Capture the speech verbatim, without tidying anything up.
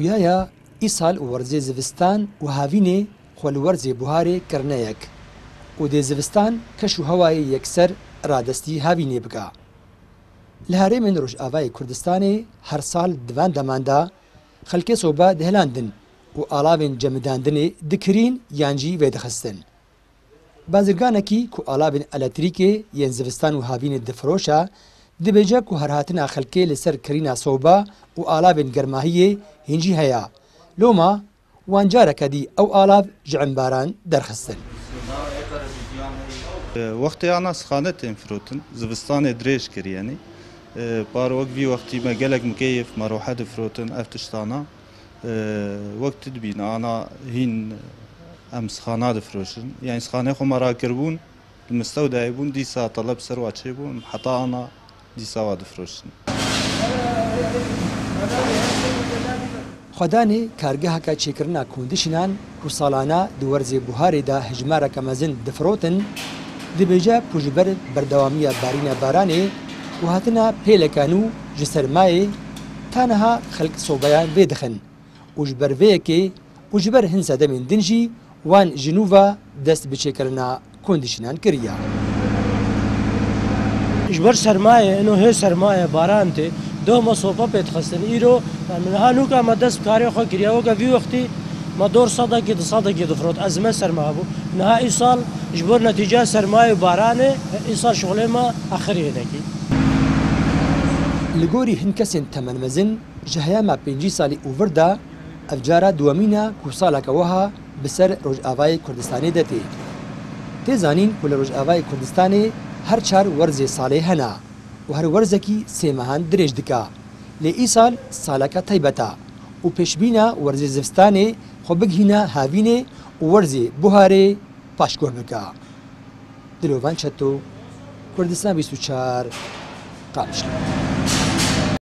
خویایە ئیسال وەرزێ زستان و هاوینێ خۆ li وەرزێ buharê kirneyek û dê zivistan keş û hewayê yekser radestî havînê bike. Li herêmên Rojavayê Kurdistanê her sal di van deman de xelkê soba dihilandin û alavên cemidandinê dikirîn yan jî vêdixistin. Bazirganekî ku alavên elektrîkê yên zivistan û havînê difiroşe dibêje ku herhatina xelkê li ser kirîna soba û alavên germahiyê hîn jî heye. Loma wan careke dî ew alav ji embaran derxistin. وەختی ئانا سخانە tên firotin, zivistanê dirêj kir yanî. Par wek vî wextî me gelek mukeyif merohe difirotin ev tiştana. Wek tu dibîne ana hîn em sixana difiroşin. Yani sixanê xwe me rakiribûn, li mistewdayê bûn dîsa teleb ser wa çêbûn heta ana dîsa wa difiroşin. Xwedanê kargeheke çêkirina kondişînan ku salana di werzê buharê de hejmareke mezin difirotin, dibêje ku ji ber berdewamiya barîna baranê û hatina pêleke nû ji sermayê ta niha xelk sobeyan vêdixin û ji ber vê yekê û ji ber hin sedemên din jî wan ji nû ve dest bi çêkirina kondişînan kiriye. Ji ber sermayê ino hê sermaye baran tê doh me sopa pê dixistin îro niha nûka me dest bi karê xwe kiriye weke vî wextî me dor sedekî du sedekî difirot ezme serma hebû niha îsal ji bo netîceya sermayê û baranê îsal şixulê me axirî hinekî. Li gorî hin kesên temenmezin ji heyama pêncî salî û vir de ev cara duwemîn e ku saleke wiha bi ser Rojavayê Kurdistanê de tê. Tê zanîn ku li Rojavayê Kurdistanê her çar werzê salê hene û her werzekî sê mehan dirêj dike. Lê îsal saleke taybet e û pêşbîna werzê zivistanê xwe bigihîne havînê û werzê buharê paşguh bike. Dilovan Çeto, Kurdistan bîst û çar, Qamişlo.